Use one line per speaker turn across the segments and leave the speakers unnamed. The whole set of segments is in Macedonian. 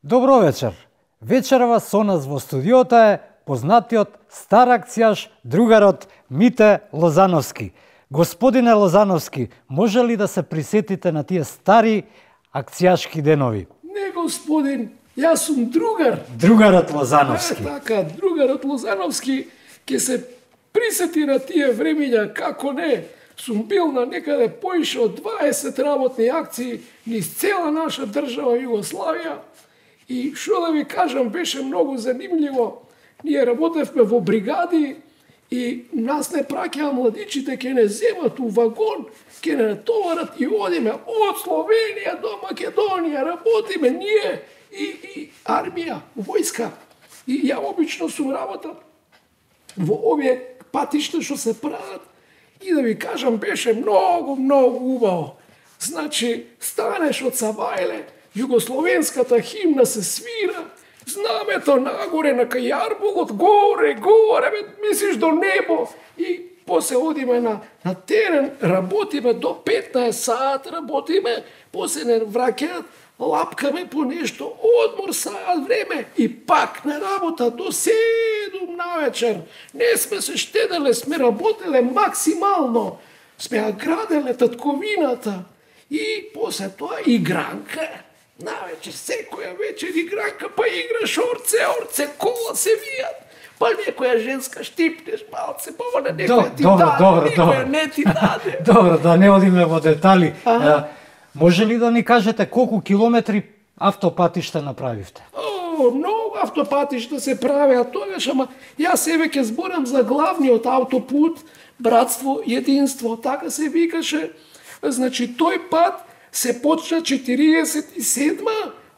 Добро вечер. Вечерва со нас во студиото е познатиот стар акцијаш, другарот Мите Лозановски. Господине Лозановски, може ли да се присетите на тие стари акцијашки денови?
Не, господин, јас сум другар.
Другарот Лозановски.
Така, другарот Лозановски ќе се присети на тие времења, како не. Сум бил на некаде поише од 20 работни акции низ цела наша држава Југославија. И што да ви кажам, беше многу занимљиво. Ние работевме во бригади и нас не праќаа младичите, ќе не земат у вагон, ќе не натоварат и одиме од Словенија до Македонија, работиме ние и армија, војска. И ја обично сум работел во овие патишта што се прават и да ви кажам, беше многу убаво. Значи, станеш од Савајле, југословенската химна се свира, знамето нагоре на Кајарбогот, горе, мислиш до небо. И после одиме на терен, работиме до 15 саат, работиме, после не враќаат, лапкаме по нешто, одмор саат време и пак на работа до 7 навечер. Не сме се штеделе, сме работеле максимално, сме ја граделе татковината и после тоа игранка. Навечер, секоја вечер игранка, па играш орце, кола се вијат, па некоја женска штипнеш малце, па она некоја ти даде, некоја не ти даде.
Добро, да не одиме во детали. Може ли да ни кажете колку километри автопатишта направивте?
Многу автопатишта се правеа тогаш, ама јас себе ќе зборам за главниот автопут, Братство, единство, така се викаше. Значи, тој пат се почна 47,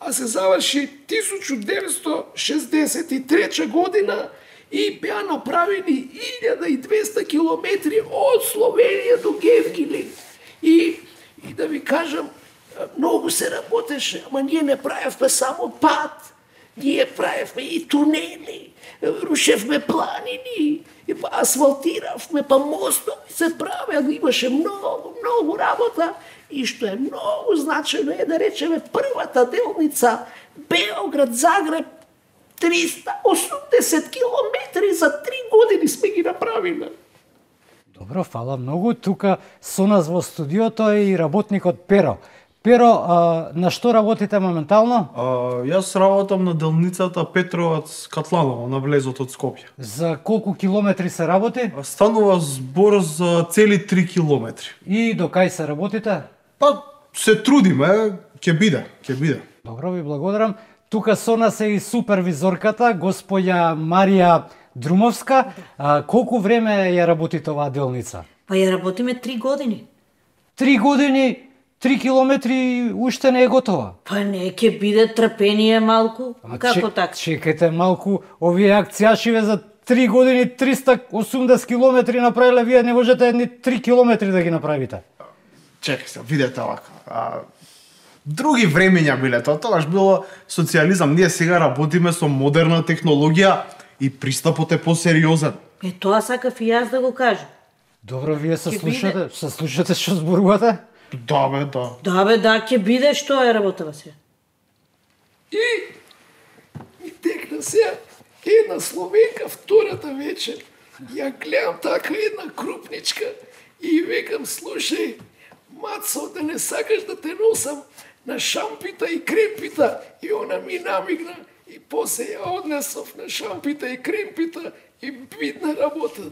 а се заврши 1963 година и беа направени 1200 километри од Словенија до Гевгили. И да ви кажам, многу се работеше, ама ние не правевме само пат, ние правевме и тунели, рушевме планини, асфалтиравме, па мостови се правеа, имаше многу работа. И што е многу значајно е да речеме првата делница Београд-Загреб 380 километри за 3 години сме ги направиле.
Добро, фала многу. Тука со нас во студиото е и работникот Pero. Pero, на што работите моментално?
Јас работам на делницата Петровац-Катланово, на влезот од Скопје.
За колку километри се работи?
Станува збор за цели 3 километри.
И до кај се работите?
Па, се трудиме, ќе биде.
Добро, ви благодарам. Тука со нас е и супервизорката, господја Марија Друмовска. Колку време ја работите оваа делница?
Па ја работиме 3 години.
3 години? 3 километри уште не е готова.
Па не, ќе биде трпение малку. Како така?
Чекайте малку, овие акцијашиве за 3 години 380 километри направиле, вие не можете ни 3 километри да ги направите.
Чекај се, видете овака. Други времења биле тоа, тогаш било социјализам. Ние сега работиме со модерна технологија и пристапот е посериозен.
Тоа сакав и јас да го кажам.
Добро, вие се слушате што зборувате?
Да, бе,
да, ќе биде што е работава се.
И текна се една Словенка втората вечер. Ја гледам така една крупничка и викам, слушај, Мацо, да не сакаш да те носам на шампита и кремпита? И она ми намигна и после ја однесов на шампита и кремпита и бидна работа.